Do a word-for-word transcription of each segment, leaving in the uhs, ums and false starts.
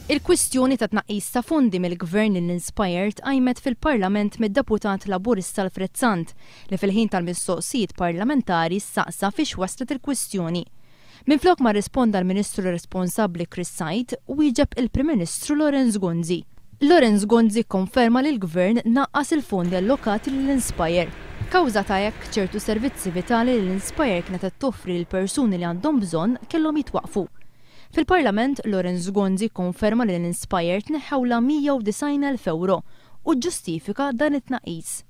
Il-kwistjoni ta' tnaqqis ta' fondi mill-Gvern lil Inspire tqajmet fil-Parlament mid-Deputat Laburista Alfred Sant, li fil-ħin tal-mistoqsijiet parlamentari saqsa fiex waslet il-kwistjoni. Minflok ma risponda l-Ministru responsabbli Chris Said, wieġeb il-Prim Ministru Lawrence Gonzi. Lawrence Gonzi konferma li l-Gvern naqqas il-fondi allokati lill-Inspire. Kawża ta' hekk, ċertu servizzi vitali li l-Inspire kienet qed toffri lil persuni li għandhom bżonn kellhom jitwaqfu. Fil-Parlament, Lawrence Gonzi konferma li l-Inspire tneħħewla mija u disgħin elf euro u ġustifika dan it-tnaqqis.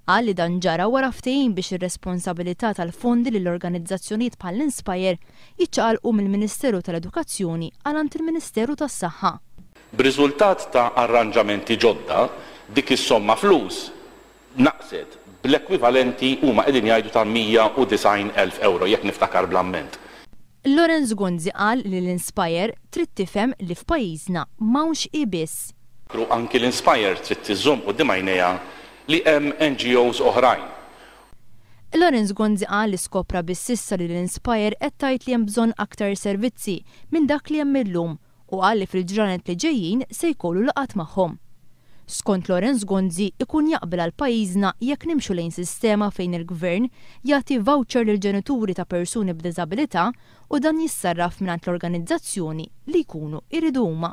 Qal li dan ġara wara ftehim biex ir-responsabilità tal-fondi lill-organizzazzjonijiet bħall-Inspire jiċċaqalqu mill-Ministeru tal-Edukazzjoni għal għand il-Ministeru tas-Saħħa. B'riżultat ta' arranġamenti ġodda, dik is-somma flus naqset bl-ekwivalenti huma qegħdin jgħidu ta' mija u disgħin elf euro jekk niftakar bl-amment. Lawrence Gonzi qal li l-Inspire trid tifhem li f'pajjiżna m'hawnx hi biss. Kru anki l-Inspire trid tiżżomm quddiem għajnejha li hemm N G Os oħrajn. Lawrence Gonzi qal li skopra biss issa li l-Inspire qed tgħid li hemm bżonn aktar servizzi minn dak li hemm illum u qal li fil-ġranet li ġejjin se jkollu laqgħat magħhom. Skont Lawrence Gonzi ikun jaqbel għal pajjiżna jekk nimxu lejn sistema fejn il-gvern jagħti voucher lil ġenituri ta' persuni b'diżabilità u dan jissarraf mingħand l-organizzazzjoni li jkunu jridu huma.